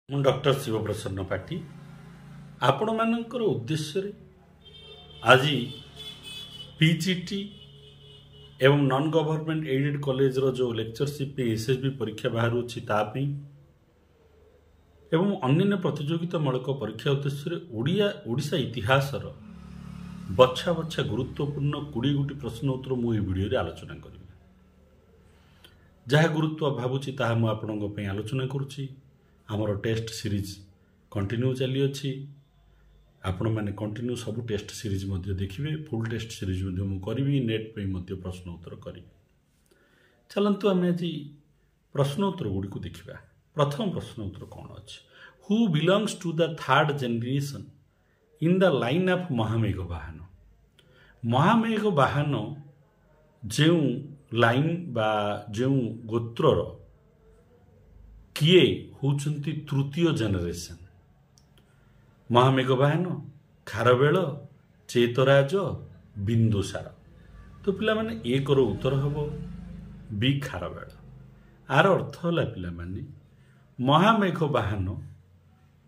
ମୁଁ ଡକ୍ଟର ଶିବପ୍ରସନ୍ନ ପାଠୀ ଆପଣମାନଙ୍କର ଉଦ୍ଦେଶ୍ୟରେ ଆଜି ପିଜିଟି ଏବଂ ନନ୍ ଗଭର୍ଣ୍ଣମେଣ୍ଟ ଏଡେଡ୍ କଲେଜର ଯେଉଁ ଲେକ୍ଚରସିପ୍ ପାଇଁ ଏସ୍ଏସ୍ବି ପରୀକ୍ଷା ବାହାରୁଛି ତା ପାଇଁ ଏବଂ ଅନ୍ୟାନ୍ୟ ପ୍ରତିଯୋଗିତାମୂଳକ ପରୀକ୍ଷା ଉଦ୍ଦେଶ୍ୟରେ ଓଡ଼ିଆ ଓଡ଼ିଶା ଇତିହାସର ବଛା ବଛା ଗୁରୁତ୍ୱପୂର୍ଣ୍ଣ 20 ଗୋଟି ପ୍ରଶ୍ନ ଉତ୍ତର ମୁଁ ଏହି ଭିଡ଼ିଓରେ ଆଲୋଚନା କରିବି। ଯାହା ଗୁରୁତ୍ୱ ଭାବୁଛି ତାହା ମୁଁ ଆପଣଙ୍କ ପାଇଁ ଆଲୋଚନା କରୁଛି। ଆମର ଟେଷ୍ଟ ସିରିଜ୍ କଣ୍ଟିନ୍ୟୁ ଚାଲିଅଛି। ଆପଣମାନେ କଣ୍ଟିନ୍ୟୁ ସବୁ ଟେଷ୍ଟ ସିରିଜ୍ ମଧ୍ୟ ଦେଖିବେ। ଫୁଲ୍ ଟେଷ୍ଟ ସିରିଜ୍ ମଧ୍ୟ ମୁଁ କରିବି। ନେଟ୍ ପାଇଁ ମଧ୍ୟ ପ୍ରଶ୍ନ ଉତ୍ତର କରିବି। ଚାଲନ୍ତୁ ଆମେ ଆଜି ପ୍ରଶ୍ନ ଉତ୍ତର ଗୁଡ଼ିକୁ ଦେଖିବା। ପ୍ରଥମ ପ୍ରଶ୍ନ ଉତ୍ତର କ'ଣ ଅଛି? Who belongs to the third generation in the line of Mahameghavahana? Mahameghavahana ଯେଉଁ ଲାଇନ୍ ବା ଯେଉଁ ଗୋତ୍ରର କିଏ ହେଉଛନ୍ତି ତୃତୀୟ ଜେନେରେସନ୍? ମହାମେଘବାହନ, ଖାରବେଳ, ଚେତରାଜ, ବିନ୍ଦୁସାର। ତ ପିଲାମାନେ, ଏକର ଉତ୍ତର ହେବ ବି, ଖାରବେଳ। ଆର ଅର୍ଥ ହେଲା ପିଲାମାନେ, ମହାମେଘବାହନ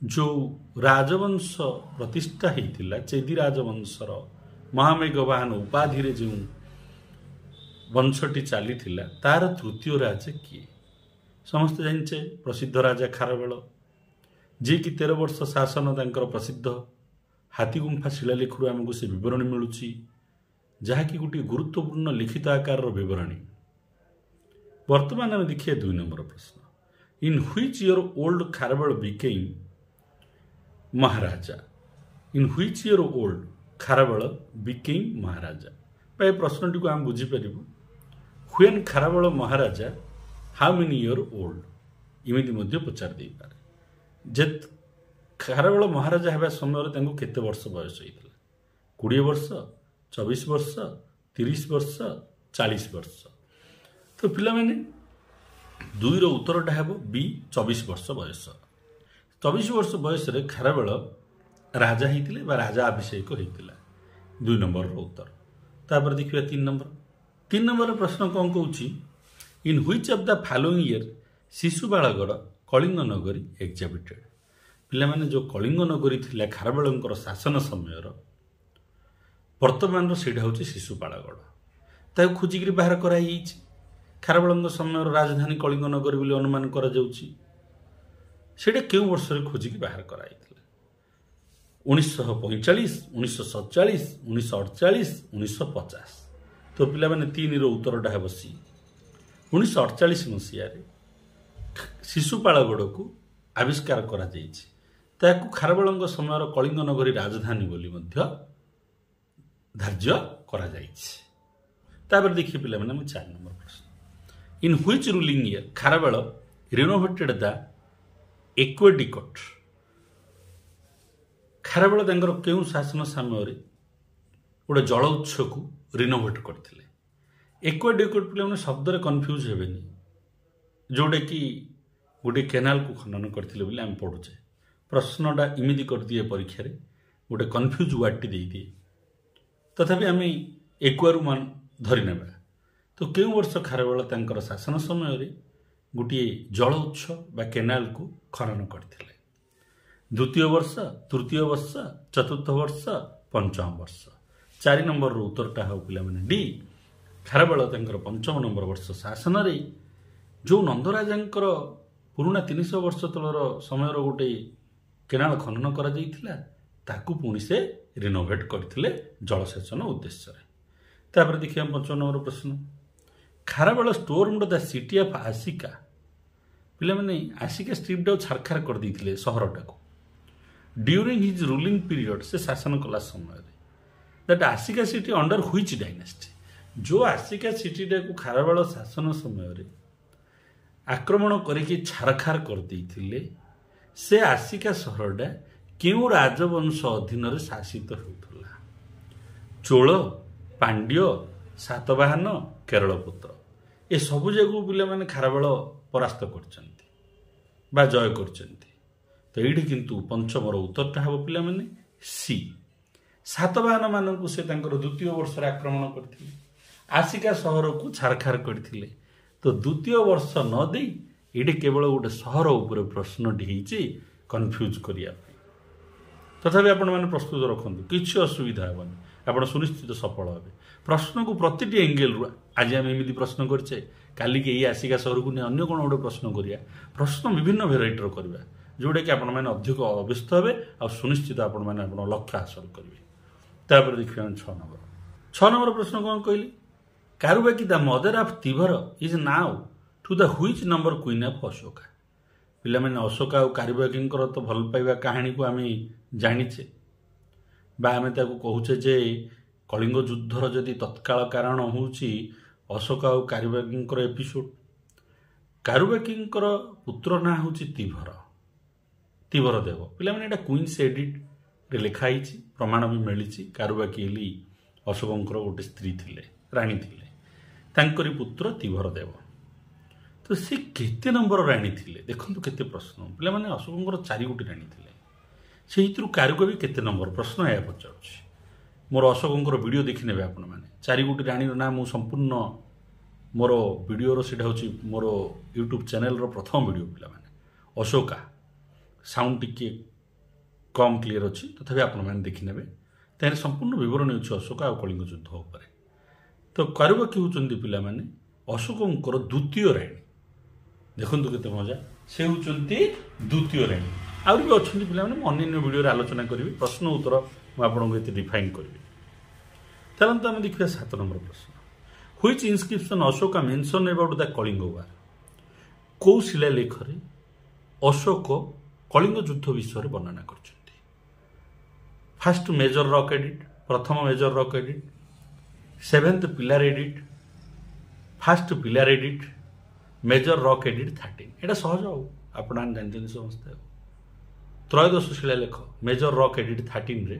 ଯେଉଁ ରାଜବଂଶ ପ୍ରତିଷ୍ଠା ହେଇଥିଲା, ଚେଦି ରାଜବଂଶର ମହାମେଘବାହନ ଉପାଧିରେ ଯେଉଁ ବଂଶଟି ଚାଲିଥିଲା, ତାର ତୃତୀୟ ରାଜା କିଏ? ସମସ୍ତେ ଜାଣିଛେ ପ୍ରସିଦ୍ଧ ରାଜା ଖାରବେଳ, ଯିଏକି 13 ବର୍ଷ ଶାସନ ତାଙ୍କର ପ୍ରସିଦ୍ଧ। ହାତୀଗୁମ୍ଫା ଶିଳାଲେଖରୁ ଆମକୁ ସେ ବିବରଣୀ ମିଳୁଛି, ଯାହାକି ଗୋଟିଏ ଗୁରୁତ୍ୱପୂର୍ଣ୍ଣ ଲିଖିତ ଆକାରର ବିବରଣୀ। ବର୍ତ୍ତମାନ ଆମେ ଦେଖିବା 2 ନମ୍ବର ପ୍ରଶ୍ନ। In which year old Kharavela became Maharaja? In which year old Kharavela became Maharaja? ବା ଏ ପ୍ରଶ୍ନଟିକୁ ଆମେ ବୁଝିପାରିବୁ, when Kharavela Maharaja how many year old, ଏମିତି ମଧ୍ୟ ପଚାରି ଦେଇପାରେ ଯେ ଖାରବେଳ ମହାରାଜା ହେବା ସମୟରେ ତାଙ୍କୁ କେତେ ବର୍ଷ ବୟସ ହେଇଥିଲା? 20 ବର୍ଷ, 24 ବର୍ଷ, 30 ବର୍ଷ, 40 ବର୍ଷ। ତ ପିଲାମାନେ, ଦୁଇର ଉତ୍ତରଟା ହେବ ବି, 24 ବର୍ଷ ବୟସ। 24 ବର୍ଷ ବୟସରେ ଖାରବେଳ ରାଜା ହେଇଥିଲେ ବା ରାଜା ଅଭିଷେକ ହେଇଥିଲା। 2 ନମ୍ବରର ଉତ୍ତର। ତାପରେ ଦେଖିବା 3 ନମ୍ବର। 3 ନମ୍ବର ପ୍ରଶ୍ନ କ'ଣ କହୁଛି? In which of the following year Sisupalgarh, Kalinganagari excavated? ପିଲାମାନେ, ଯେଉଁ କଳିଙ୍ଗ ନଗରୀ ଥିଲା ଖାରବେଳଙ୍କର ଶାସନ ସମୟର, ବର୍ତ୍ତମାନର ସେଇଟା ହେଉଛି ଶିଶୁପାଳଗଡ଼, ତାକୁ ଖୋଜିକିରି ବାହାର କରାଯାଇଛି। ଖାରବେଳଙ୍କ ସମୟର ରାଜଧାନୀ କଳିଙ୍ଗ ନଗରୀ ବୋଲି ଅନୁମାନ କରାଯାଉଛି। ସେଇଟା କେଉଁ ବର୍ଷରେ ଖୋଜିକି ବାହାର କରାଯାଇଥିଲା? 1945, 1947, 1948, 1950। ତ ପିଲାମାନେ, ତିନିର ଉତ୍ତରଟା ହେବ ସି। 1948 ମସିହାରେ ଶିଶୁପାଳଗଡ଼କୁ ଆବିଷ୍କାର କରାଯାଇଛି। ତାକୁ ଖାରବେଳଙ୍କ ସମୟର କଳିଙ୍ଗ ନଗରୀ ରାଜଧାନୀ ବୋଲି ମଧ୍ୟ ଧାର୍ଯ୍ୟ କରାଯାଇଛି। ତାପରେ ଦେଖିବେ ପିଲାମାନେ, ମୁଁ 4 ନମ୍ବର ପ୍ରଶ୍ନ। In which ruling year Kharavela renovated the aqueduct? Kharavela ତାଙ୍କର କେଉଁ ଶାସନ ସମୟରେ ଗୋଟେ ଜଳ ଉତ୍ସକୁ ରିନୋଭେଟ୍ କରିଥିଲେ? ଏକ୍ୱାଡିକଟ୍, ପିଲାମାନେ, ଶବ୍ଦରେ କନଫ୍ୟୁଜ୍ ହେବେନି, ଯେଉଁଟାକି ଗୋଟିଏ କେନାଲକୁ ଖନନ କରିଥିଲେ ବୋଲି ଆମେ ପଢ଼ୁଛେ। ପ୍ରଶ୍ନଟା ଏମିତି କରିଦିଏ ପରୀକ୍ଷାରେ, ଗୋଟେ କନଫ୍ୟୁଜ୍ ୱାର୍ଡ଼ଟି ଦେଇଦିଏ। ତଥାପି ଆମେ ଏକୁଆରୁ ମାନ ଧରି ନେବା। ତ କେଉଁ ବର୍ଷ ଖାରବେଳ ତାଙ୍କର ଶାସନ ସମୟରେ ଗୋଟିଏ ଜଳ ଉତ୍ସ ବା କେନାଲକୁ ଖନନ କରିଥିଲେ? ଦ୍ୱିତୀୟ ବର୍ଷ, ତୃତୀୟ ବର୍ଷ, ଚତୁର୍ଥ ବର୍ଷ, ପଞ୍ଚମ ବର୍ଷ। 4 ନମ୍ବରର ଉତ୍ତରଟା ହେବ ପିଲାମାନେ ଡି। ଖାରବେଳ ତାଙ୍କର ପଞ୍ଚମ ନମ୍ବର ବର୍ଷ ଶାସନରେ ଯେଉଁ ନନ୍ଦରାଜାଙ୍କର ପୁରୁଣା 300 ବର୍ଷ ତଳର ସମୟର ଗୋଟେ କେନାଳ ଖନନ କରାଯାଇଥିଲା, ତାକୁ ପୁଣି ସେ ରିନୋଭେଟ୍ କରିଥିଲେ ଜଳସେଚନ ଉଦ୍ଦେଶ୍ୟରେ। ତାପରେ ଦେଖିବା ପଞ୍ଚମ ନମ୍ବର ପ୍ରଶ୍ନ। Kharavela stormed the city of Asika. ପିଲାମାନେ, ଆସିକା ଷ୍ଟ୍ରିପ୍ଟାକୁ ଛାରଖାର କରିଦେଇଥିଲେ ସହରଟାକୁ ଡ୍ୟୁରିଂ his ruling period, ସେ ଶାସନ କଲା ସମୟରେ। That Asika city under which dynasty? ଯେଉଁ ଆସିକା ସିଟିଟାକୁ ଖାରବେଳ ଶାସନ ସମୟରେ ଆକ୍ରମଣ କରିକି ଛାରଖାର କରିଦେଇଥିଲେ, ସେ ଆସିକା ସହରଟା କେଉଁ ରାଜବଂଶ ଅଧୀନରେ ଶାସିତ ହେଉଥିଲା? ଚୋଳ, ପାଣ୍ଡ୍ୟ, ସାତବାହନ, କେରଳପୁତ୍ର। ଏ ସବୁ ଯାକୁ ପିଲାମାନେ ଖାରବେଳ ପରାସ୍ତ କରିଛନ୍ତି ବା ଜୟ କରିଛନ୍ତି। ତ ଏଇଠି କିନ୍ତୁ ପଞ୍ଚମର ଉତ୍ତରଟା ହେବ ପିଲାମାନେ ସି। ସାତବାହନ ମାନଙ୍କୁ ସେ ତାଙ୍କର ଦ୍ୱିତୀୟ ବର୍ଷରେ ଆକ୍ରମଣ କରିଥିଲେ, ଆସିକା ସହରକୁ ଛାରଖାର କରିଥିଲେ। ତ ଦ୍ୱିତୀୟ ବର୍ଷ ନ ଦେଇ ଏଇଠି କେବଳ ଗୋଟେ ସହର ଉପରେ ପ୍ରଶ୍ନଟି ହେଇଛି କନଫ୍ୟୁଜ୍ କରିବା ପାଇଁ। ତଥାପି ଆପଣମାନେ ପ୍ରସ୍ତୁତ ରଖନ୍ତୁ, କିଛି ଅସୁବିଧା ହେବନି, ଆପଣ ସୁନିଶ୍ଚିତ ସଫଳ ହେବେ। ପ୍ରଶ୍ନକୁ ପ୍ରତିଟି ଏଙ୍ଗେଲରୁ, ଆଜି ଆମେ ଏମିତି ପ୍ରଶ୍ନ କରିଛେ, କାଲିକି ଏଇ ଆସିକା ସହରକୁ ନେଇ ଅନ୍ୟ କ'ଣ ଗୋଟେ ପ୍ରଶ୍ନ କରିବା, ପ୍ରଶ୍ନ ବିଭିନ୍ନ ଭେରାଇଟିର କରିବା, ଯେଉଁଟାକି ଆପଣମାନେ ଅଧିକ ଅଭ୍ୟସ୍ତ ହେବେ ଆଉ ସୁନିଶ୍ଚିତ ଆପଣମାନେ ଆପଣଙ୍କ ଲକ୍ଷ୍ୟ ହାସଲ କରିବେ। ତାପରେ ଦେଖିବା ଆମେ 6 ନମ୍ବର। 6 ନମ୍ବର ପ୍ରଶ୍ନ କ'ଣ କହିଲି? Karuvaki the mother of Tibhara is now to the which number queen of Ashoka. ପିଲାମାନେ ଅଶୋକ ଆଉ କାରୁବାକୀଙ୍କର ତ ଭଲ ପାଇବା କାହାଣୀକୁ ଆମେ ଜାଣିଛେ, ବା ଆମେ ତାକୁ କହୁଛେ ଯେ କଳିଙ୍ଗ ଯୁଦ୍ଧର ଯଦି ତତ୍କାଳ କାରଣ ହେଉଛି ଅଶୋକ ଆଉ କାରୁବାକୀଙ୍କର ଏପିସୋଡ଼। କାରୁବାକୀଙ୍କର ପୁତ୍ର ନାଁ ହେଉଛି ତିଭର, ତିଭର ଦେବ। ପିଲାମାନେ ଏଇଟା କୁଇନ୍ସ ଏଡିଟ୍ରେ ଲେଖା ହେଇଛି, ପ୍ରମାଣ ବି ମିଳିଛି। କାରୁବାକୀ ହେଲି ଅଶୋକଙ୍କର ଗୋଟେ ସ୍ତ୍ରୀ ଥିଲେ, ରାଣୀ ଥିଲେ, ତାଙ୍କରି ପୁତ୍ର ତିଭର ଦେବ। ତ ସେ କେତେ ନମ୍ବର ରାଣୀ ଥିଲେ? ଦେଖନ୍ତୁ କେତେ ପ୍ରଶ୍ନ ପିଲାମାନେ। ଅଶୋକଙ୍କର 4 ଗୋଟି ରାଣୀ ଥିଲେ, ସେଇଥିରୁ କାରୁବାକୀ କେତେ ନମ୍ବର ପ୍ରଶ୍ନ ଏହା ପଚାରୁଛି। ମୋର ଅଶୋକଙ୍କର ଭିଡ଼ିଓ ଦେଖିନେବେ ଆପଣମାନେ। 4 ଗୋଟି ରାଣୀର ନାଁ ମୁଁ ସମ୍ପୂର୍ଣ୍ଣ ମୋର ଭିଡ଼ିଓର, ସେଇଟା ହେଉଛି ମୋର ୟୁଟ୍ୟୁବ୍ ଚ୍ୟାନେଲର ପ୍ରଥମ ଭିଡ଼ିଓ ପିଲାମାନେ। ଅଶୋକା ସାଉଣ୍ଡ ଟିକିଏ କମ୍ କ୍ଲିୟର ଅଛି, ତଥାପି ଆପଣମାନେ ଦେଖିନେବେ। ତାହେଲେ ସମ୍ପୂର୍ଣ୍ଣ ବିବରଣୀ ଅଛି ଅଶୋକ ଆଉ କଳିଙ୍ଗ ଯୁଦ୍ଧ ଉପରେ। ତ କାରୁବାକୀ ହେଉଛନ୍ତି ପିଲାମାନେ ଅଶୋକଙ୍କର ଦ୍ୱିତୀୟ ରାଣୀ। ଦେଖନ୍ତୁ କେତେ ମଜା, ସେ ହେଉଛନ୍ତି ଦ୍ୱିତୀୟ ରାଣୀ। ଆହୁରି ବି ଅଛନ୍ତି ପିଲାମାନେ, ମୁଁ ଅନ୍ୟାନ୍ୟ ଭିଡ଼ିଓରେ ଆଲୋଚନା କରିବି, ପ୍ରଶ୍ନ ଉତ୍ତର ମୁଁ ଆପଣଙ୍କୁ ଏତେ ଡିଫାଇନ୍ କରିବି। ଚାଲନ୍ତୁ ଆମେ ଦେଖିବା 7 ନମ୍ବର ପ୍ରଶ୍ନ। Which inscription Ashoka mention about the Kalinga war. କେଉଁ ଶିଳାଲେଖରେ ଅଶୋକ କଳିଙ୍ଗ ଯୁଦ୍ଧ ବିଷୟରେ ବର୍ଣ୍ଣନା କରିଛନ୍ତି? ଫାଷ୍ଟ ମେଜର ରକ୍ ଏଡିଟ୍, ପ୍ରଥମ major rock edict, 7th pillar edict, first pillar edict, major rock edict 13। ଏଇଟା ସହଜ ଆଉ ଆପଣମାନେ ଜାଣିଛନ୍ତି ସମସ୍ତେ। ଆଉ ତ୍ରୟୋଦଶ ଶିଳାଲେଖ ମେଜର ରକ୍ ଏଡିଟ୍ 13ରେ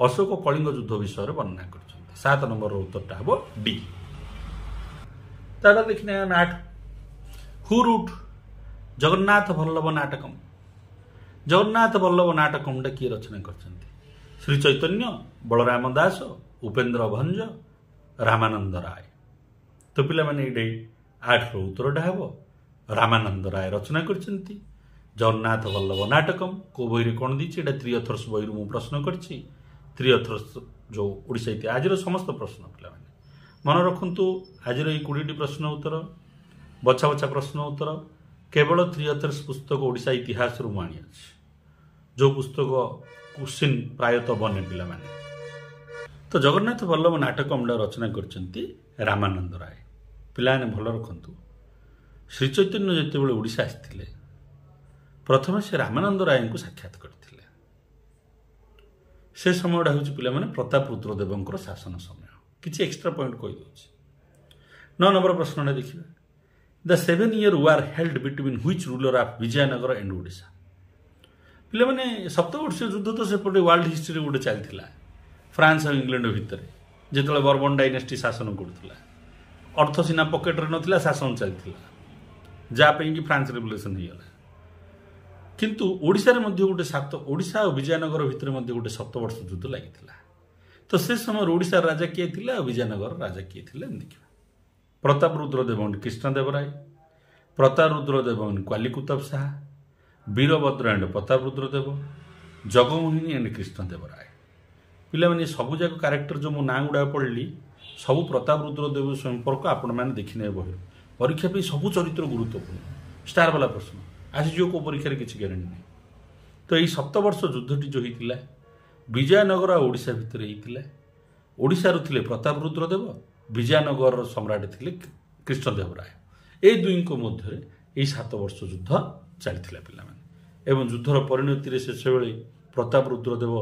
ଅଶୋକ କଳିଙ୍ଗ ଯୁଦ୍ଧ ବିଷୟରେ ବର୍ଣ୍ଣନା କରିଛନ୍ତି। 7 ନମ୍ବରର ଉତ୍ତରଟା ହେବ ଡି। ତାପରେ ଦେଖିନେ ଆମେ 8। Who wrote Jagannath Vallabha Natakam. Jagannath Vallabha ନାଟକମଟା କିଏ ରଚନା କରିଛନ୍ତି? ଶ୍ରୀ ଚୈତନ୍ୟ, ବଳରାମ ଦାସ, ଉପେନ୍ଦ୍ର ଭଞ୍ଜ, ରାମାନନ୍ଦ ରାୟ। ତ ପିଲାମାନେ ଏଇଠି 8ର ଉତ୍ତରଟା ହେବ ରାମାନନ୍ଦ ରାୟ ରଚନା କରିଛନ୍ତି ଜଗନ୍ନାଥ ବଲ୍ଲଭ ନାଟକମ। କେଉଁ ବହିରେ କ'ଣ ଦେଇଛି? ଏଇଟା ତ୍ରି ଅଥର୍ସ ବହିରୁ ମୁଁ ପ୍ରଶ୍ନ କରିଛି। ତ୍ରି ଅଥର୍ସ ଯେଉଁ ଓଡ଼ିଶା ଇତିହାସ, ଆଜିର ସମସ୍ତ ପ୍ରଶ୍ନ ପିଲାମାନେ ମନେ ରଖନ୍ତୁ। ଆଜିର ଏଇ 20ଟି ପ୍ରଶ୍ନ ଉତ୍ତର, ବଛା ବଛା ପ୍ରଶ୍ନ ଉତ୍ତର କେବଳ ତ୍ରି ଅଥର୍ସ ପୁସ୍ତକ ଓଡ଼ିଶା ଇତିହାସରୁ ମୁଁ ଆଣିଅଛି, ଯେଉଁ ପୁସ୍ତକ କୋଶ୍ଚିନ୍ ପ୍ରାୟତଃ ବନେ ପିଲାମାନେ। ତ ଜଗନ୍ନାଥ ବଲ୍ଲଭ ନାଟକମଟା ରଚନା କରିଛନ୍ତି ରାମାନନ୍ଦ ରାୟ। ପିଲାମାନେ ଭଲ ରଖନ୍ତୁ, ଶ୍ରୀ ଚୈତନ୍ୟ ଯେତେବେଳେ ଓଡ଼ିଶା ଆସିଥିଲେ ପ୍ରଥମେ ସେ ରାମାନନ୍ଦ ରାୟଙ୍କୁ ସାକ୍ଷାତ କରିଥିଲେ। ସେ ସମୟଟା ହେଉଛି ପିଲାମାନେ ପ୍ରତାପ ରୁଦ୍ରଦେବଙ୍କର ଶାସନ ସମୟ। କିଛି ଏକ୍ସଟ୍ରା ପଏଣ୍ଟ କହିଦେଉଛି। 9 ନମ୍ବର ପ୍ରଶ୍ନଟା ଦେଖିବା। The 7 year war held between which ruler of Vijayanagara and Odisha. ପିଲାମାନେ ସପ୍ତବର୍ଷୀୟ ଯୁଦ୍ଧ ତ ସେପଟେ ୱାର୍ଲଡ ହିଷ୍ଟ୍ରିରେ ଗୋଟେ ଚାଲିଥିଲା ଫ୍ରାନ୍ସ ଆଉ ଇଂଲଣ୍ଡ ଭିତରେ, ଯେତେବେଳେ ବର୍ବନ ଡାଇନେଷ୍ଟି ଶାସନ କରୁଥିଲା। ଅର୍ଥ ସିନା ପକେଟରେ ନଥିଲା, ଶାସନ ଚାଲିଥିଲା, ଯାହା ପାଇଁକି ଫ୍ରାନ୍ସ ରେଭଲ୍ୟୁସନ୍ ହେଇଗଲା। କିନ୍ତୁ ଓଡ଼ିଶାରେ ମଧ୍ୟ ଗୋଟେ ଓଡ଼ିଶା ଆଉ ବିଜୟନଗର ଭିତରେ ମଧ୍ୟ ଗୋଟେ ସପ୍ତବର୍ଷ ଯୁଦ୍ଧ ଲାଗିଥିଲା। ତ ସେ ସମୟରେ ଓଡ଼ିଶାର ରାଜା କିଏ ଥିଲେ ଆଉ ବିଜୟନଗର ରାଜା କିଏ ଥିଲେ ଆମେ ଦେଖିବା। Pratap Rudradeva and Krishnadevaraya, Pratap Rudradeva and Quli Qutb Shah, Virabhadra and Pratap Rudradeva, Jagamohini and Krishnadevaraya. ପିଲାମାନେ ସବୁଯାକ କ୍ୟାରେକ୍ଟର ଯେଉଁ ମୁଁ ନାଁ ଗୁଡ଼ାକ ପଢ଼ିଲି ସବୁ ପ୍ରତାପ ରୁଦ୍ରଦେବ ସମ୍ପର୍କ ଆପଣମାନେ ଦେଖିନେବେ ବହିରୁ। ପରୀକ୍ଷା ପାଇଁ ସବୁ ଚରିତ୍ର ଗୁରୁତ୍ୱପୂର୍ଣ୍ଣ, ଷ୍ଟାର ବାଲା ପ୍ରଶ୍ନ ଆସିଯିବ କେଉଁ ପରୀକ୍ଷାରେ କିଛି ଗ୍ୟାରେଣ୍ଟି ନାହିଁ। ତ ଏଇ ସପ୍ତବର୍ଷ ଯୁଦ୍ଧଟି ଯେଉଁ ହେଇଥିଲା ବିଜୟନଗର ଆଉ ଓଡ଼ିଶା ଭିତରେ ହେଇଥିଲା। ଓଡ଼ିଶାରୁ ଥିଲେ ପ୍ରତାପ ରୁଦ୍ରଦେବ, ବିଜୟନଗରର ସମ୍ରାଟ ଥିଲେ କୃଷ୍ଣଦେବରାୟ। ଏଇ ଦୁଇଙ୍କ ମଧ୍ୟରେ ଏଇ 7 ବର୍ଷ ଯୁଦ୍ଧ ଚାଲିଥିଲା ପିଲାମାନେ। ଏବଂ ଯୁଦ୍ଧର ପରିଣତିରେ ଶେଷବେଳେ ପ୍ରତାପ ରୁଦ୍ରଦେବ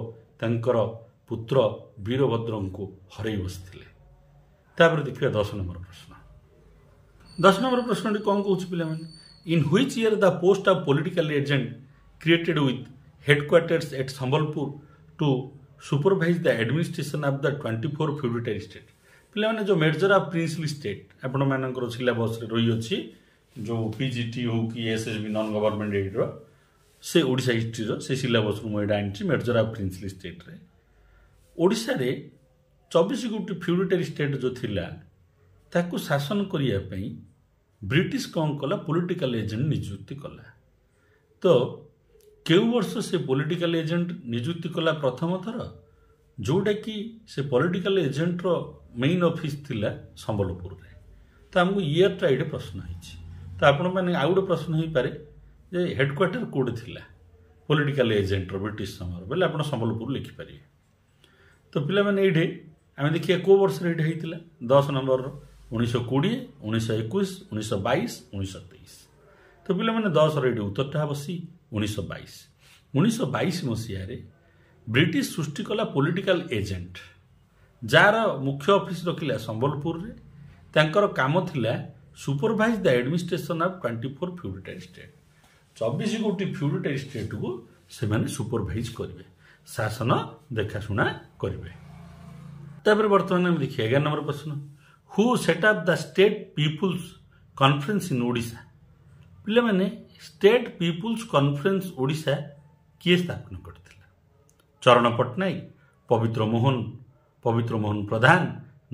ତାଙ୍କର ପୁତ୍ର ବୀରଭଦ୍ରଙ୍କୁ ହରାଇ ବସିଥିଲେ। ତାପରେ ଦେଖିବା 10 ନମ୍ବର ପ୍ରଶ୍ନ। 10 ନମ୍ବର ପ୍ରଶ୍ନଟି କ'ଣ କହୁଛି ପିଲାମାନେ? In which year the post of political agent created with headquarters at Sambalpur to supervise the administration of the 24 feudatory state. ପିଲାମାନେ ଯେଉଁ ମେଜର ଅଫ୍ ପ୍ରିନ୍ସଲି ଷ୍ଟେଟ୍ ଆପଣମାନଙ୍କର ସିଲାବସ୍ରେ ରହିଅଛି, ଯେଉଁ ପି ଜି ଟି ହେଉ କି S S B non government ଏଇଡ଼ର, ସେ ଓଡ଼ିଶା ହିଷ୍ଟ୍ରିର ସେ ସିଲାବସ୍ରୁ ମୁଁ ଏଇଟା ଆଣିଛି। ମେଜର ଅଫ୍ ପ୍ରିନ୍ସଲି ଷ୍ଟେଟ୍ରେ ଓଡ଼ିଶାରେ 24 ଗୋଟି ଫ୍ୟୁଡିଟାରୀ ଷ୍ଟେଟ୍ ଯେଉଁ ଥିଲା ତାକୁ ଶାସନ କରିବା ପାଇଁ ବ୍ରିଟିଶ କ'ଣ କଲା? ପଲିଟିକାଲ ଏଜେଣ୍ଟ ନିଯୁକ୍ତି କଲା। ତ କେଉଁ ବର୍ଷ ସେ ପଲିଟିକାଲ ଏଜେଣ୍ଟ ନିଯୁକ୍ତି କଲା ପ୍ରଥମ ଥର? ଯେଉଁଟାକି ସେ ପଲିଟିକାଲ ଏଜେଣ୍ଟର ମେଇନ୍ ଅଫିସ୍ ଥିଲା ସମ୍ବଲପୁରରେ। ତ ଆମକୁ ଇୟର୍ଟା ଏଇଠି ପ୍ରଶ୍ନ ହେଇଛି। ତ ଆପଣମାନେ ଆଉ ଗୋଟେ ପ୍ରଶ୍ନ ହେଇପାରେ ଯେ ହେଡ଼କ୍ୱାର୍ଟର କେଉଁଠି ଥିଲା ପଲିଟିକାଲ ଏଜେଣ୍ଟର ବ୍ରିଟିଶ ସମୟରେ ବୋଇଲେ ଆପଣ ସମ୍ବଲପୁର ଲେଖିପାରିବେ। ତ ପିଲାମାନେ, ଏଇଠି ଆମେ ଦେଖିବା କେଉଁ ବର୍ଷରେ ଏଇଠି ହେଇଥିଲା। 10 ନମ୍ବରର 1920, 1921, 1922, 1923। ତ ପିଲାମାନେ, 10ର ଏଇଠି ଉତ୍ତରଟା ହେବ ସି, 1922। 1922 ମସିହାରେ ବ୍ରିଟିଶ ସୃଷ୍ଟି କଲା ପଲିଟିକାଲ ଏଜେଣ୍ଟ, ଯାହାର ମୁଖ୍ୟ ଅଫିସ ରଖିଲା ସମ୍ବଲପୁରରେ। ତାଙ୍କର କାମ ଥିଲା supervise the administration of 24 feudatory state. 24 ଗୋଟି ଫ୍ୟୁଡିଟାରୀ ଷ୍ଟେଟ୍କୁ ସେମାନେ ସୁପରଭାଇଜ କରିବେ, ଶାସନ ଦେଖାଶୁଣା କରିବେ। ତାପରେ ବର୍ତ୍ତମାନ ଆମେ ଦେଖିବା 11 ନମ୍ବର ପ୍ରଶ୍ନ। Who set up the State People's Conference in Odisha? ପିଲାମାନେ, ଷ୍ଟେଟ୍ ପିପୁଲ୍ସ କନଫରେନ୍ସ ଓଡ଼ିଶା କିଏ ସ୍ଥାପନ କରିଥିଲା? ଚରଣ ପଟ୍ଟନାୟକ, ପବିତ୍ର ମୋହନ ପ୍ରଧାନ,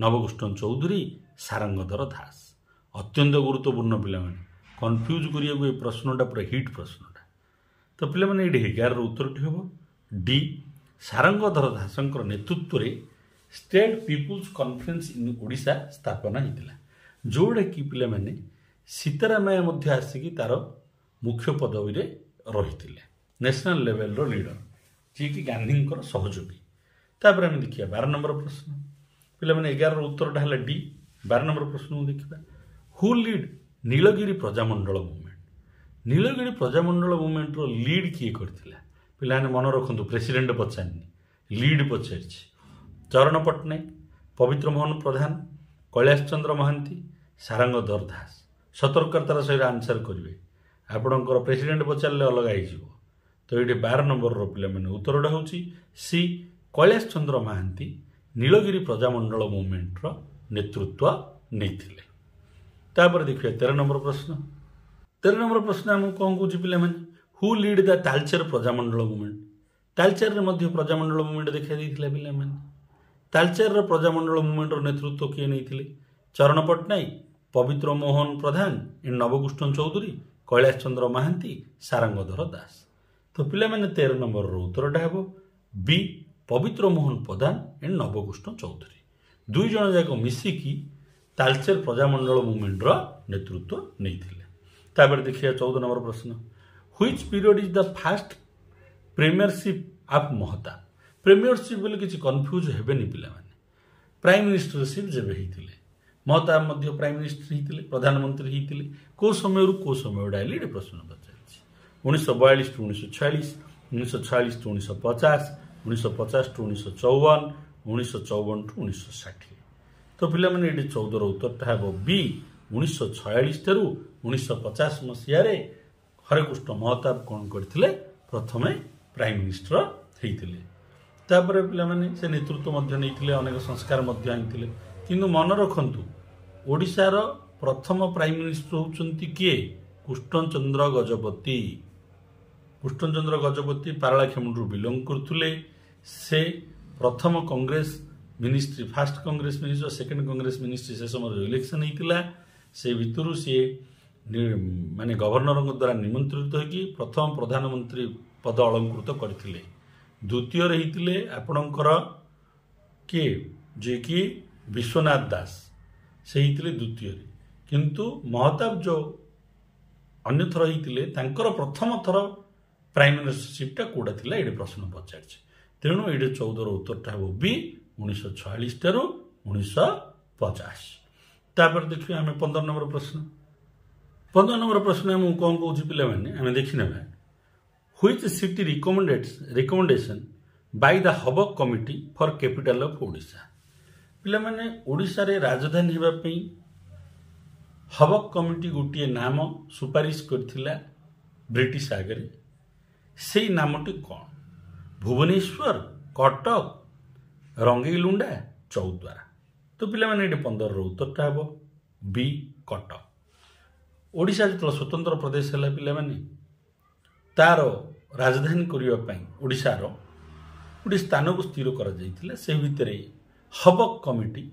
ନବକୃଷ୍ଣ ଚୌଧୁରୀ, ସାରଙ୍ଗଧର ଦାସ। ଅତ୍ୟନ୍ତ ଗୁରୁତ୍ୱପୂର୍ଣ୍ଣ ପିଲାମାନେ, କନଫ୍ୟୁଜ୍ କରିବାକୁ ଏ ପ୍ରଶ୍ନଟା ପୁରା ହିଟ୍ ପ୍ରଶ୍ନଟା। ତ ପିଲାମାନେ, ଏଇଠି 11ର ଉତ୍ତରଟି ହେବ ଡି, ସାରଙ୍ଗଧର ଦାସଙ୍କର ନେତୃତ୍ୱରେ State People's Conference in Odisha ସ୍ଥାପନା ହେଇଥିଲା, ଯେଉଁଟାକି ପିଲାମାନେ ସୀତାରାମାୟା ମଧ୍ୟ ଆସିକି ତାର ମୁଖ୍ୟ ପଦବୀରେ ରହିଥିଲେ, ନ୍ୟାସନାଲ୍ ଲେଭେଲର ଲିଡର, ଯିଏକି ଗାନ୍ଧୀଙ୍କର ସହଯୋଗୀ। ତାପରେ ଆମେ ଦେଖିବା 12 ନମ୍ବର ପ୍ରଶ୍ନ। ପିଲାମାନେ, 11ର ଉତ୍ତରଟା ହେଲା ଡି। 12 ନମ୍ବର ପ୍ରଶ୍ନକୁ ଦେଖିବା। Who lead Nilgiri Prajamandal movement? Nilgiri Prajamandal ମୁଭମେଣ୍ଟର lead କିଏ କରିଥିଲା? ପିଲାମାନେ ମନେ ରଖନ୍ତୁ, ପ୍ରେସିଡେଣ୍ଟ ପଚାରିନି, ଲିଡ୍ ପଚାରିଛି। ଚରଣ ପଟ୍ଟନାୟକ, ପବିତ୍ର ମୋହନ ପ୍ରଧାନ, କୈଳାସ ଚନ୍ଦ୍ର ମହାନ୍ତି, ସାରଙ୍ଗଧର ଦାସ। ସତର୍କତାର ସହିତ ଆନ୍ସର କରିବେ। ଆପଣଙ୍କର ପ୍ରେସିଡେଣ୍ଟ ପଚାରିଲେ ଅଲଗା ହେଇଯିବ। ତ ଏଇଠି 12 ନମ୍ବରର ପିଲାମାନେ ଉତ୍ତରଟା ହେଉଛି ସି, କୈଳାସ ଚନ୍ଦ୍ର ମହାନ୍ତି ନୀଳଗିରି ପ୍ରଜାମଣ୍ଡଳ ମୁଭମେଣ୍ଟର ନେତୃତ୍ୱ ନେଇଥିଲେ। ତାପରେ ଦେଖିବା 13 ନମ୍ବର ପ୍ରଶ୍ନ। 13 ନମ୍ବର ପ୍ରଶ୍ନ ଆମକୁ କ'ଣ କହୁଛି ପିଲାମାନେ? Who lead the Talcher Prajamandal movement? ତାଲଚେରରେ ମଧ୍ୟ ପ୍ରଜାମଣ୍ଡଳ ମୁଭମେଣ୍ଟ ଦେଖାଦେଇଥିଲା ପିଲାମାନେ। ତାଲଚେରର ପ୍ରଜାମଣ୍ଡଳ ମୁଭମେଣ୍ଟର ନେତୃତ୍ୱ କିଏ ନେଇଥିଲେ? ଚରଣ ପଟ୍ଟନାୟକ, ପବିତ୍ର ମୋହନ ପ୍ରଧାନ, ନବକୃଷ୍ଣ ଚୌଧୁରୀ, କୈଳାସ ଚନ୍ଦ୍ର ମହାନ୍ତି, ସାରଙ୍ଗଧର ଦାସ। ତ ପିଲାମାନେ, 13 ନମ୍ବରର ଉତ୍ତରଟା ହେବ ବି, ପବିତ୍ର ମୋହନ ପ୍ରଧାନ ଏଣ୍ଡ ନବକୃଷ୍ଣ ଚୌଧୁରୀ। ଦୁଇ ଜଣ ଯାକ ମିଶିକି ତାଲଚେର ପ୍ରଜାମଣ୍ଡଳ ମୁଭମେଣ୍ଟର ନେତୃତ୍ୱ ନେଇଥିଲେ। ତାପରେ ଦେଖିବା 14 ନମ୍ବର ପ୍ରଶ୍ନ। Which period is the first premiership of Mahtab? Premiership ବୋଲି କିଛି କନଫ୍ୟୁଜ୍ ହେବେନି ପିଲାମାନେ। ପ୍ରାଇମ୍ ମିନିଷ୍ଟରସିପ୍ ଯେବେ ହେଇଥିଲେ, ମହତାବ ମଧ୍ୟ ପ୍ରାଇମ୍ ମିନିଷ୍ଟର ହେଇଥିଲେ, ପ୍ରଧାନମନ୍ତ୍ରୀ ହେଇଥିଲେ, କେଉଁ ସମୟରୁ କେଉଁ ସମୟଟା ହେଲେ ଏଠି ପ୍ରଶ୍ନ ପଚାରିଛି। 1942 ଟୁ 1946, 1946 ଟୁ 1950, 1950 ଟୁ 1954, 1954 ଟୁ 1960। ତ ପିଲାମାନେ, ଏଠି 14ର ଉତ୍ତରଟା ହେବ ବି, 1946 ଠାରୁ 1950 ମସିହାରେ ହରେକୃଷ୍ଣ ମହତାବ କ'ଣ କରିଥିଲେ? ପ୍ରଥମେ ପ୍ରାଇମ୍ ମିନିଷ୍ଟର ହେଇଥିଲେ। ତାପରେ ପିଲାମାନେ ସେ ନେତୃତ୍ୱ ମଧ୍ୟ ନେଇଥିଲେ, ଅନେକ ସଂସ୍କାର ମଧ୍ୟ ଆଣିଥିଲେ। କିନ୍ତୁ ମନେ ରଖନ୍ତୁ, ଓଡ଼ିଶାର ପ୍ରଥମ ପ୍ରାଇମ୍ ମିନିଷ୍ଟର ହେଉଛନ୍ତି କିଏ? କୃଷ୍ଣଚନ୍ଦ୍ର ଗଜପତି। କୃଷ୍ଣଚନ୍ଦ୍ର ଗଜପତି ପାରଳାଖେମୁଣ୍ଡରୁ ବିଲଙ୍ଗ କରୁଥିଲେ। ସେ ପ୍ରଥମ Congress ministry, first Congress minister, second Congress ministry, ସେ ସମୟରେ ଯେଉଁ ଇଲେକ୍ସନ୍ ହେଇଥିଲା, ସେ ଭିତରୁ ସିଏ ମାନେ ଗଭର୍ଣ୍ଣରଙ୍କ ଦ୍ୱାରା ନିମନ୍ତ୍ରିତ ହୋଇକି ପ୍ରଥମ ପ୍ରଧାନମନ୍ତ୍ରୀ ପଦ ଅଳଙ୍କୃତ କରିଥିଲେ। ଦ୍ୱିତୀୟରେ ହେଇଥିଲେ ଆପଣଙ୍କର କିଏ, ଯିଏକି ବିଶ୍ୱନାଥ ଦାସ, ସେ ହେଇଥିଲେ ଦ୍ୱିତୀୟରେ। କିନ୍ତୁ ମହତାବ ଯେଉଁ ଅନ୍ୟଥର ହେଇଥିଲେ, ତାଙ୍କର ପ୍ରଥମ ଥର ପ୍ରାଇମ୍ ମିନିଷ୍ଟରସିପ୍ଟା କେଉଁଟା ଥିଲା, ଏଇଠି ପ୍ରଶ୍ନ ପଚାରିଛି। ତେଣୁ ଏଇଠି 14ର ଉତ୍ତରଟା ହେବ ବି, 1946 ଠାରୁ 1950। ତାପରେ ଦେଖିବା ଆମେ 15 ନମ୍ବର ପ୍ରଶ୍ନ। 15 ନମ୍ବର ପ୍ରଶ୍ନ ଆମକୁ କ'ଣ କହୁଛି ପିଲାମାନେ, ଆମେ ଦେଖିନେବା। Which city recommendation by the Hubbock Committee for capital of Odisha? ପିଲାମାନେ, ଓଡ଼ିଶାରେ ରାଜଧାନୀ ହେବା ପାଇଁ ହବକ୍ କମିଟି ଗୋଟିଏ ନାମ ସୁପାରିଶ କରିଥିଲା ବ୍ରିଟିଶ ଆଗରେ। ସେଇ ନାମଟି କ'ଣ? ଭୁବନେଶ୍ୱର, କଟକ, ରଙ୍ଗେଇଲୁଣ୍ଡା, ଚୌଦ୍ୱାର। ତ ପିଲାମାନେ, ଏଠି 15ର ଉତ୍ତରଟା ହେବ ବି, କଟକ। ଓଡ଼ିଶା ଯେତେବେଳେ ସ୍ୱତନ୍ତ୍ର ପ୍ରଦେଶ ହେଲା ପିଲାମାନେ, ତାର ରାଜଧାନୀ କରିବା ପାଇଁ ଓଡ଼ିଶାର ଗୋଟିଏ ସ୍ଥାନକୁ ସ୍ଥିର କରାଯାଇଥିଲା। ସେ ଭିତରେ ହବକ୍ କମିଟି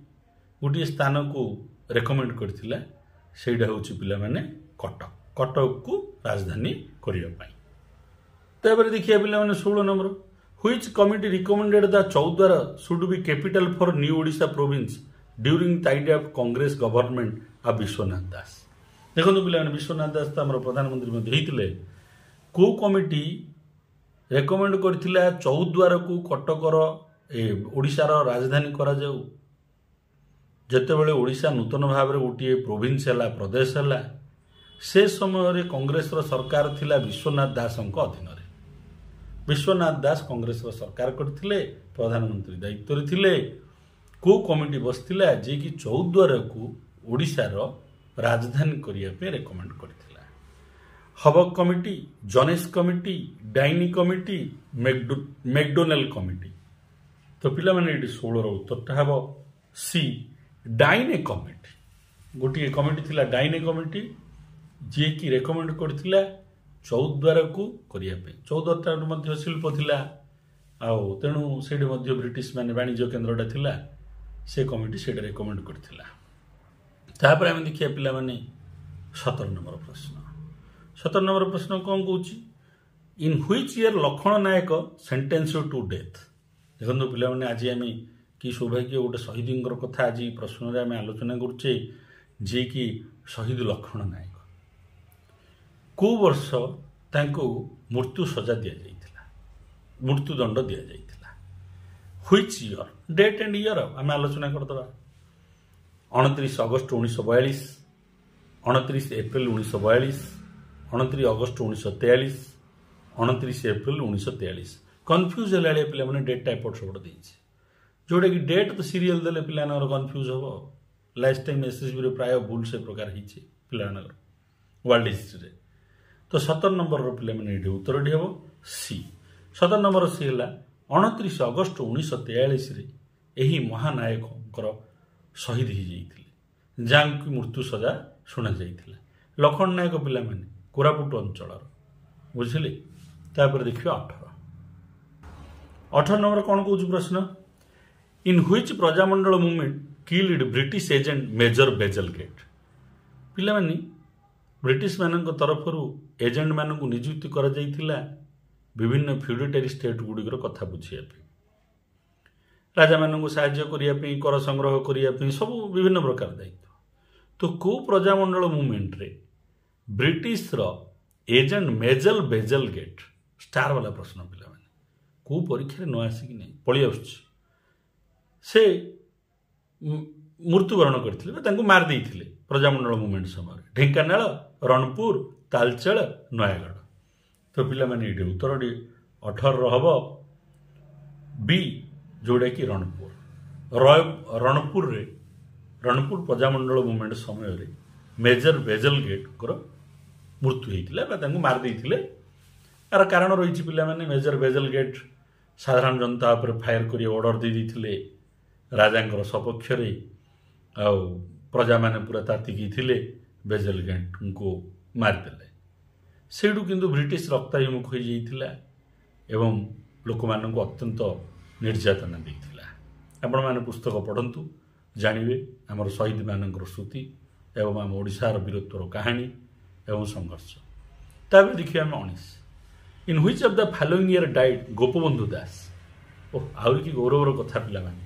ଗୋଟିଏ ସ୍ଥାନକୁ ରେକମେଣ୍ଡ କରିଥିଲା। ସେଇଟା ହେଉଛି ପିଲାମାନେ କଟକ, କଟକକୁ ରାଜଧାନୀ କରିବା ପାଇଁ। ତାପରେ ଦେଖିବା ପିଲାମାନେ 16 number, which committee recommended the Choudwar should be capital for new Odisha province during time of Congress government of Biswanath Das. ଦେଖନ୍ତୁ ପିଲାମାନେ, ବିଶ୍ୱନାଥ ଦାସ ତ ଆମର ପ୍ରଧାନମନ୍ତ୍ରୀ ମଧ୍ୟ ହେଇଥିଲେ। କେଉଁ କମିଟି ରେକମେଣ୍ଡ କରିଥିଲା ଚୌଦ୍ୱାରକୁ କଟକର ଓଡ଼ିଶାର ରାଜଧାନୀ କରାଯାଉ? ଯେତେବେଳେ ଓଡ଼ିଶା ନୂତନ ଭାବରେ ଗୋଟିଏ ପ୍ରୋଭିନ୍ସ ହେଲା, ପ୍ରଦେଶ ହେଲା, ସେ ସମୟରେ କଂଗ୍ରେସର ସରକାର ଥିଲା ବିଶ୍ୱନାଥ ଦାସଙ୍କ ଅଧୀନରେ। ବିଶ୍ୱନାଥ ଦାସ କଂଗ୍ରେସର ସରକାର କରିଥିଲେ, ପ୍ରଧାନମନ୍ତ୍ରୀ ଦାୟିତ୍ୱରେ ଥିଲେ। କେଉଁ କମିଟି ବସିଥିଲା ଯିଏକି ଚୌଦ୍ୱାରକୁ ଓଡ଼ିଶାର ରାଜଧାନୀ କରିବା ପାଇଁ ରେକମେଣ୍ଡ କରିଥିଲା? Hubback committee, Jones committee, Daini committee, McDonnell committee. ତ ପିଲାମାନେ ଏଇଠି 16ର ଉତ୍ତରଟା ହେବ ସି, ଡାଇନେ କମିଟି। ଗୋଟିଏ କମିଟି ଥିଲା ଡାଇନେ କମିଟି, ଯିଏକି ରେକମେଣ୍ଡ କରିଥିଲା ଚୌଦ୍ୱାରକୁ କରିବା ପାଇଁ। ଚୌଦ୍ୱାରଟା ମଧ୍ୟ ଶିଳ୍ପ ଥିଲା, ଆଉ ତେଣୁ ସେଇଠି ମଧ୍ୟ ବ୍ରିଟିଶ ମାନେ ବାଣିଜ୍ୟ କେନ୍ଦ୍ରଟା ଥିଲା, ସେ କମିଟି ସେଇଟା ରେକମେଣ୍ଡ କରିଥିଲା। ତାପରେ ଆମେ ଦେଖିବା ପିଲାମାନେ 17 ନମ୍ବର ପ୍ରଶ୍ନ। 17 ନମ୍ବର ପ୍ରଶ୍ନ କ'ଣ କହୁଛି? In which year Lakshman Nayak sentence to death. ଦେଖନ୍ତୁ ପିଲାମାନେ, ଆଜି ଆମେ କି ସୌଭାଗ୍ୟ ଗୋଟେ ଶହୀଦଙ୍କର କଥା ଆଜି ପ୍ରଶ୍ନରେ ଆମେ ଆଲୋଚନା କରୁଛେ, ଯିଏକି ଶହୀଦ ଲକ୍ଷ୍ମଣ ନାୟକ। କେଉଁ ବର୍ଷ ତାଙ୍କୁ ମୃତ୍ୟୁ ସଜା ଦିଆଯାଇଥିଲା, ମୃତ୍ୟୁଦଣ୍ଡ ଦିଆଯାଇଥିଲା? Which year, date and year ଆମେ ଆଲୋଚନା କରିଦେବା। 29 August 1942, 29 April 1942, 29 August 1943, 29 April 1943। Confuse ହେଲା ଭଳିଆ ପିଲାମାନେ ଡେଟ୍ଟା ଏପଟ ସେପଟ ଦେଇଛି, ଯେଉଁଟାକି ଡେଟ୍ ତ ସିରିଏଲ୍ ଦେଲେ ପିଲାମାନଙ୍କର କନଫ୍ୟୁଜ୍ ହେବ। ଲାଷ୍ଟ ଟାଇମ୍ ଏସ୍ଏସ୍ବିରେ ପ୍ରାୟ ଭୁଲ ସେ ପ୍ରକାର ହେଇଛି ପିଲାମାନଙ୍କର ୱାର୍ଲଡ ହିଷ୍ଟ୍ରିରେ। ତ 17 ନମ୍ବରର ପିଲାମାନେ ଏଇଠି ଉତ୍ତରଟି ହେବ ସି। 17 ନମ୍ବର ସି ହେଲା 29 ଅଗଷ୍ଟ 1943ରେ ଏହି ମହାନାୟକଙ୍କର ଶହୀଦ ହେଇଯାଇଥିଲେ, ଯାହାଙ୍କୁ ମୃତ୍ୟୁ ସଜା ଶୁଣାଯାଇଥିଲା। ଲକ୍ଷ୍ମଣ ନାୟକ ପିଲାମାନେ କୋରାପୁଟ ଅଞ୍ଚଳର, ବୁଝିଲେ। ତାପରେ ଦେଖିବା 18 ନମ୍ବର କ'ଣ କହୁଛି ପ୍ରଶ୍ନ? In which Prajamandal movement killed British agent Major Bazalgette. ପିଲାମାନେ ବ୍ରିଟିଶମାନଙ୍କ ତରଫରୁ ଏଜେଣ୍ଟମାନଙ୍କୁ ନିଯୁକ୍ତି କରାଯାଇଥିଲା ବିଭିନ୍ନ ଫ୍ୟୁଡିଟାରୀ ଷ୍ଟେଟ୍ ଗୁଡ଼ିକର କଥା ବୁଝିବା ପାଇଁ, ରାଜାମାନଙ୍କୁ ସାହାଯ୍ୟ କରିବା ପାଇଁ, କର ସଂଗ୍ରହ କରିବା ପାଇଁ, ସବୁ ବିଭିନ୍ନ ପ୍ରକାର ଦାୟିତ୍ୱ। ତ କେଉଁ ପ୍ରଜାମଣ୍ଡଳ ମୁଭମେଣ୍ଟରେ ବ୍ରିଟିଶର ଏଜେଣ୍ଟ ମେଜର ବେଜଲଗେଟ୍, ଷ୍ଟାର ବାଲା ପ୍ରଶ୍ନ ପିଲାମାନେ, କେଉଁ ପରୀକ୍ଷାରେ ନ ଆସିକି ନାହିଁ ପଳେଇ ଆସୁଛି, ସେ ମୃତ୍ୟୁବରଣ କରିଥିଲେ ବା ତାଙ୍କୁ ମାରି ଦେଇଥିଲେ ପ୍ରଜାମଣ୍ଡଳ ମୁଭମେଣ୍ଟ ସମୟରେ? ଢେଙ୍କାନାଳ, ରଣପୁର, ତାଲଚେଳ, ନୟାଗଡ଼। ତ ପିଲାମାନେ ଏଇଠି ଉତ୍ତରଟି 18ର ହେବ ବି, ଯେଉଁଟାକି ରଣପୁର। ରଣପୁରରେ ରଣପୁର ପ୍ରଜାମଣ୍ଡଳ ମୁଭମେଣ୍ଟ ସମୟରେ ମେଜର ବେଜଲଗେଟ୍ଙ୍କର ମୃତ୍ୟୁ ହେଇଥିଲା ବା ତାଙ୍କୁ ମାରି ଦେଇଥିଲେ। ଏହାର କାରଣ ରହିଛି ପିଲାମାନେ, ମେଜର ବେଜଲଗେଟ୍ ସାଧାରଣ ଜନତା ଉପରେ ଫାୟାର କରି ଅର୍ଡ଼ର ଦେଇ ଦେଇଥିଲେ ରାଜାଙ୍କର ସପକ୍ଷରେ, ଆଉ ପ୍ରଜାମାନେ ପୁରା ତାତିକି ଥିଲେ, ବେଜଲଗେଟ୍ଙ୍କୁ ମାରିଦେଲେ। ସେଇଠୁ କିନ୍ତୁ ବ୍ରିଟିଶ ରକ୍ତାଭିମୁଖ ହୋଇଯାଇଥିଲା ଏବଂ ଲୋକମାନଙ୍କୁ ଅତ୍ୟନ୍ତ ନିର୍ଯାତନା ଦେଇଥିଲା। ଆପଣମାନେ ପୁସ୍ତକ ପଢ଼ନ୍ତୁ, ଜାଣିବେ ଆମର ଶହୀଦମାନଙ୍କର ସ୍ମୃତି ଏବଂ ଆମ ଓଡ଼ିଶାର ବୀରତ୍ୱର କାହାଣୀ ଏବଂ ସଂଘର୍ଷ। ତାପରେ ଦେଖିବା ଆମେ 19, in which of the following year died Gopabandhu Das. ଓହ, ଆହୁରି କି ଗୌରବର କଥା ପିଲାମାନେ,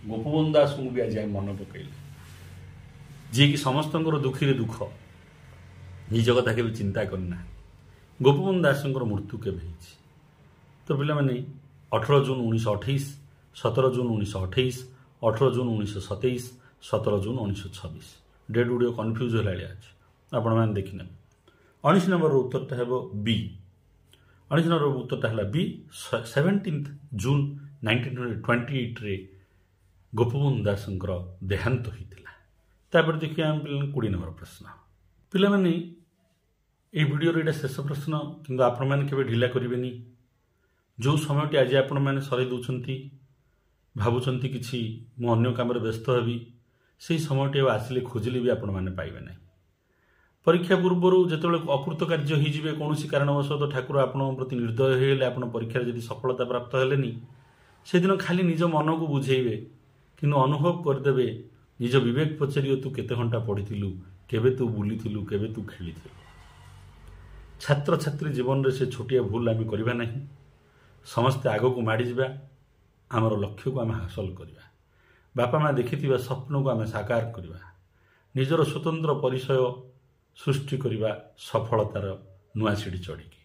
ଗୋପବନ୍ଧୁ ଦାସଙ୍କୁ ବି ଆଜି ଆମେ ମନେ ପକାଇଲେ, ଯିଏକି ସମସ୍ତଙ୍କର ଦୁଃଖୀରେ ଦୁଃଖ, ନିଜ କଥା କେବେ ଚିନ୍ତା କରିନାହାନ୍ତି। ଗୋପବନ୍ଧୁ ଦାସଙ୍କର ମୃତ୍ୟୁ କେବେ ହେଇଛି? ତ ପିଲାମାନେ 18 June 1928, 17 June 1928, 18 June 1927, 17 June 1926। Date ଗୁଡ଼ିକ କନଫ୍ୟୁଜ୍ ହେଲା ଭଳିଆ ଅଛି, ଆପଣମାନେ ଦେଖିନେବେ। 19 ନମ୍ବରର ଉତ୍ତରଟା ହେବ ବି। 19 ନମ୍ବର ଉତ୍ତରଟା ହେଲା ବି, 17 ଜୁନ୍ 1928ରେ ଗୋପବନ୍ଧୁ ଦାସଙ୍କର ଦେହାନ୍ତ ହୋଇଥିଲା। ତାପରେ ଦେଖିବା ଆମେ ପିଲାମାନେ 20 ନମ୍ବର ପ୍ରଶ୍ନ। ପିଲାମାନେ ଏଇ ଭିଡ଼ିଓର ଏଇଟା ଶେଷ ପ୍ରଶ୍ନ, କିନ୍ତୁ ଆପଣମାନେ କେବେ ଢିଲା କରିବେନି। ଯେଉଁ ସମୟଟି ଆଜି ଆପଣମାନେ ସରେଇ ଦେଉଛନ୍ତି, ଭାବୁଛନ୍ତି କିଛି ମୁଁ ଅନ୍ୟ କାମରେ ବ୍ୟସ୍ତ ହେବି, ସେଇ ସମୟଟି ଆଉ ଆସିଲେ ଖୋଜିଲେ ବି ଆପଣମାନେ ପାଇବେ ନାହିଁ। ପରୀକ୍ଷା ପୂର୍ବରୁ ଯେତେବେଳେ ଅକୃତ କାର୍ଯ୍ୟ ହୋଇଯିବେ କୌଣସି କାରଣବଶତଃ, ଠାକୁର ଆପଣଙ୍କ ପ୍ରତି ନିର୍ଦ୍ଦୟ ହୋଇଗଲେ, ଆପଣ ପରୀକ୍ଷାରେ ଯଦି ସଫଳତା ପ୍ରାପ୍ତ ହେଲେନି, ସେଦିନ ଖାଲି ନିଜ ମନକୁ ବୁଝେଇବେ, କିନ୍ତୁ ଅନୁଭବ କରିଦେବେ, ନିଜ ବିବେକ ପଚାରିବ ତୁ କେତେ ଘଣ୍ଟା ପଢ଼ିଥିଲୁ, କେବେ ତୁ ବୁଲିଥିଲୁ, କେବେ ତୁ ଖେଳିଥିଲୁ। ଛାତ୍ରଛାତ୍ରୀ ଜୀବନରେ ସେ ଛୋଟିଆ ଭୁଲ ଆମେ କରିବା ନାହିଁ। ସମସ୍ତେ ଆଗକୁ ମାଡ଼ିଯିବା, ଆମର ଲକ୍ଷ୍ୟକୁ ଆମେ ହାସଲ କରିବା, ବାପା ମା ଦେଖିଥିବା ସ୍ୱପ୍ନକୁ ଆମେ ସାକାର କରିବା, ନିଜର ସ୍ୱତନ୍ତ୍ର ପରିଚୟ ସୃଷ୍ଟି କରିବା ସଫଳତାର ନୂଆ ସିଡ଼ି ଚଢ଼ିକି।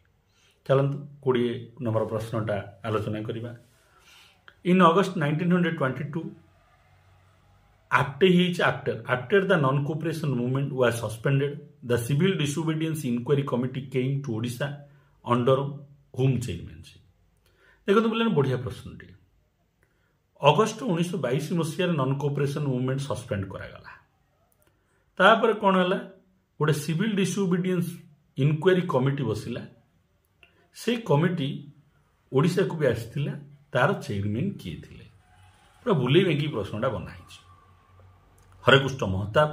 ଚାଲନ୍ତୁ 20 ନମ୍ବର ପ୍ରଶ୍ନଟା ଆଲୋଚନା କରିବା। In August 1922, after he after the non-cooperation movement was suspended, the Civil Disobedience Inquiry Committee came to Odisha under whom chairmanship? ଦେଖନ୍ତୁ ପିଲାମାନେ, ବଢ଼ିଆ ପ୍ରଶ୍ନଟିଏ। ଅଗଷ୍ଟ 1922 ମସିହାରେ ନନ୍ କୋଅପରେସନ୍ ମୁଭମେଣ୍ଟ ସସ୍ପେଣ୍ଡ କରାଗଲା। ତାପରେ କ'ଣ ହେଲା? ଗୋଟେ ସିଭିଲ୍ ଡିସୋବିଡିଏନ୍ସ ଇନକ୍ୱାରି କମିଟି ବସିଲା। ସେଇ କମିଟି ଓଡ଼ିଶାକୁ ବି ଆସିଥିଲା। ତାର ଚେୟାରମ୍ୟାନ୍ କିଏ ଥିଲେ? ପୁରା ବୁଲେଇ ବେଙ୍କି ପ୍ରଶ୍ନଟା ବନା ହେଇଛି। ହରେକୃଷ୍ଣ ମହତାବ,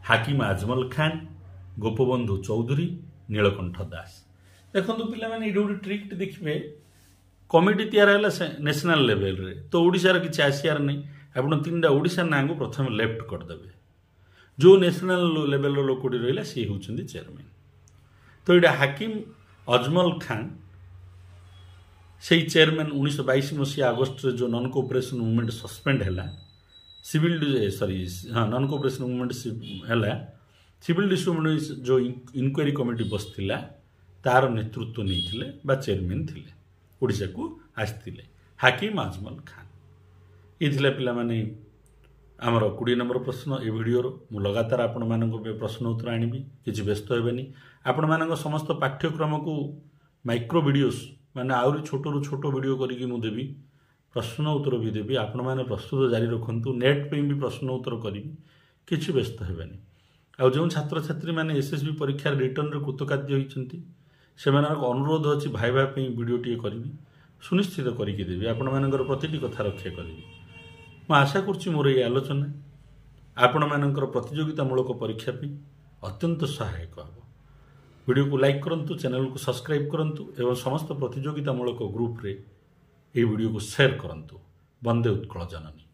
ହାକିମ ଆଜମଲ ଖାନ, ଗୋପବନ୍ଧୁ ଚୌଧୁରୀ, ନୀଳକଣ୍ଠ ଦାସ। ଦେଖନ୍ତୁ ପିଲାମାନେ, ଏଇଠି ଗୋଟେ ଟ୍ରିକ୍ଟି ଦେଖିବେ। କମିଟି ତିଆରି ହେଲା ନ୍ୟାସନାଲ ଲେଭେଲରେ, ତ ଓଡ଼ିଶାର କିଛି ଆସିବାର ନାହିଁ। ଆପଣ ତିନିଟା ଓଡ଼ିଶା ନାଁକୁ ପ୍ରଥମେ ଲେଫ୍ଟ କରିଦେବେ। ଯେଉଁ ନ୍ୟାସନାଲ ଲେଭେଲର ଲୋକଟି ରହିଲା, ସିଏ ହେଉଛନ୍ତି ଚେୟାରମ୍ୟାନ୍। ତ ଏଇଟା ହାକିମ ଅଜମଲ ଖାନ ସେଇ ଚେୟାରମ୍ୟାନ୍। 1922 ମସିହା ଅଗଷ୍ଟରେ ଯେଉଁ ନନ୍ କୋଅପରେସନ୍ ମୁଭମେଣ୍ଟ ସସ୍ପେଣ୍ଡ ହେଲା, ସିଭିଲ୍ ସରି ହଁ ନନ୍ କୋଅପରେସନ୍ ମୁଭମେଣ୍ଟ ହେଲା, ସିଭିଲ୍ ଡିସୋବିଡିଏନ୍ସ ଯେଉଁ ଇନକ୍ୱାରି କମିଟି ବସିଥିଲା, ତାର ନେତୃତ୍ୱ ନେଇଥିଲେ ବା ଚେୟାରମ୍ୟାନ୍ ଥିଲେ, ଓଡ଼ିଶାକୁ ଆସିଥିଲେ ହାକିମ ଆଜମଲ ଖାନ। ଏ ଥିଲା ପିଲାମାନେ ଆମର 20 ନମ୍ବର ପ୍ରଶ୍ନ ଏ ଭିଡ଼ିଓର। ମୁଁ ଲଗାତାର ଆପଣମାନଙ୍କ ପାଇଁ ପ୍ରଶ୍ନ ଉତ୍ତର ଆଣିବି, କିଛି ବ୍ୟସ୍ତ ହେବେନି। ଆପଣମାନଙ୍କ ସମସ୍ତ ପାଠ୍ୟକ୍ରମକୁ ମାଇକ୍ରୋ ଭିଡ଼ିଓସ୍, ମାନେ ଆହୁରି ଛୋଟରୁ ଛୋଟ ଭିଡ଼ିଓ କରିକି ମୁଁ ଦେବି, ପ୍ରଶ୍ନ ଉତ୍ତର ବି ଦେବି। ଆପଣମାନେ ପ୍ରସ୍ତୁତ ଜାରି ରଖନ୍ତୁ। ନେଟ୍ ପାଇଁ ବି ପ୍ରଶ୍ନ ଉତ୍ତର କରିବି, କିଛି ବ୍ୟସ୍ତ ହେବେନି। ଆଉ ଯେଉଁ ଛାତ୍ରଛାତ୍ରୀମାନେ ଏସ୍ ଏସ୍ ବି ପରୀକ୍ଷାରେ ରିଟର୍ଣ୍ଣରେ କୃତକାର୍ଯ୍ୟ ହୋଇଛନ୍ତି, ସେମାନଙ୍କ ଅନୁରୋଧ ଅଛି, ଭାଇବା ପାଇଁ ଭିଡ଼ିଓଟିଏ କରିବି, ସୁନିଶ୍ଚିତ କରିକି ଦେବି। ଆପଣମାନଙ୍କର ପ୍ରତିଟି କଥା ରକ୍ଷା କରିବି। ମୁଁ ଆଶା କରୁଛି ମୋର ଏହି ଆଲୋଚନା ଆପଣମାନଙ୍କର ପ୍ରତିଯୋଗିତାମୂଳକ ପରୀକ୍ଷା ପାଇଁ ଅତ୍ୟନ୍ତ ସହାୟକ ହେବ। ଭିଡ଼ିଓକୁ ଲାଇକ୍ କରନ୍ତୁ, ଚ୍ୟାନେଲକୁ ସବସ୍କ୍ରାଇବ୍ କରନ୍ତୁ ଏବଂ ସମସ୍ତ ପ୍ରତିଯୋଗିତାମୂଳକ ଗ୍ରୁପରେ ଏହି ଭିଡ଼ିଓକୁ ସେୟାର କରନ୍ତୁ। ବନ୍ଦେ ଉତ୍କଳ ଜନନୀ।